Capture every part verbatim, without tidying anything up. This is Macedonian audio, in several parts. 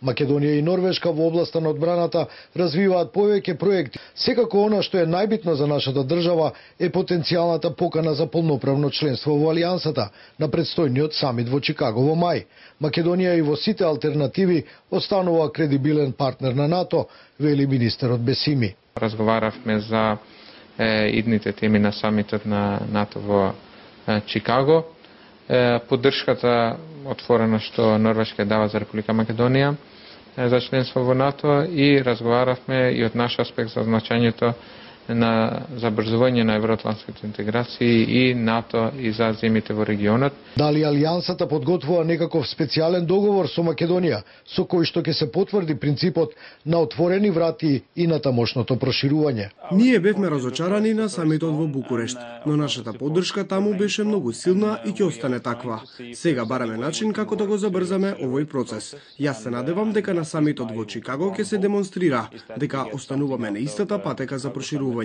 Македонија и Норвешка во областа на одбраната развиваат повеќе проекти. Секако она што е најбитно за нашата држава е потенцијалната покана за полноправно членство во Алијансата на предстојниот самит во Чикаго во мај. Македонија и во сите алтернативи останува кредибилен партнер на НАТО, вели министерот Бесими. Разговаравме за е, идните теми на самитот на НАТО во е, Чикаго. Е, поддршката отворена што Норвешка дава за Република Македонија за членство во НАТО и разговаравме и од наш аспект за значењето на забрзување на евроатлантските интеграции и НАТО и за земјите во регионот. Дали Алијансата подготвува некаков специјален договор со Македонија, со кој што ќе се потврди принципот на отворени врати и на тамошното проширување? Ние бевме разочарани на самитот во Букурешт, но нашата поддршка таму беше многу силна и ќе остане таква. Сега бараме начин како да го забрзаме овој процес. Јас се надевам дека на самитот во Чикаго ќе се демонстрира дека остануваме на истата патека за проширување.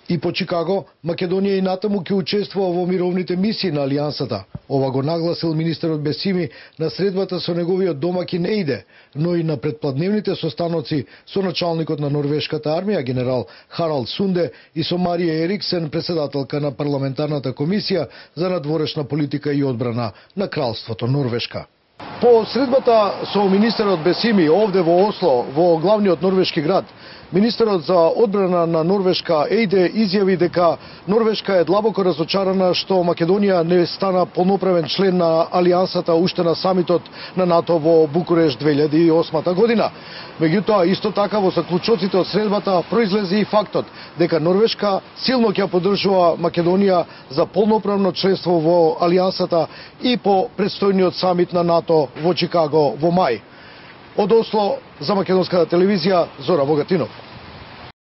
И по Чикаго, Македонија и натаму ќе учествува во мировните мисии на Алијансата. Ова го нагласил министерот Бесими на средбата со неговиот домакин Ейде, но и на предпладневните состаноци со началникот на норвешката армија генерал Харалд Сунде и со Марија Ериксен, председателка на парламентарната комисија за надворешна политика и одбрана на Кралството Норвешка. По средбата со министерот Бесими овде во Осло, во главниот норвешки град, министерот за одбрана на Норвешка Ейде изјави дека Норвешка е длабоко разочарана што Македонија не стана полноправен член на Алијансата уште на самитот на НАТО во Букурешт две илјади и осма година. Меѓутоа, исто така во заклучоците од средбата произлезе и фактот дека Норвешка силно ќе поддржува Македонија за полноправно членство во Алијансата и по предстојниот самит на НАТО во Чикаго во мај. Од Осло за Македонската телевизија Зора Богатинов.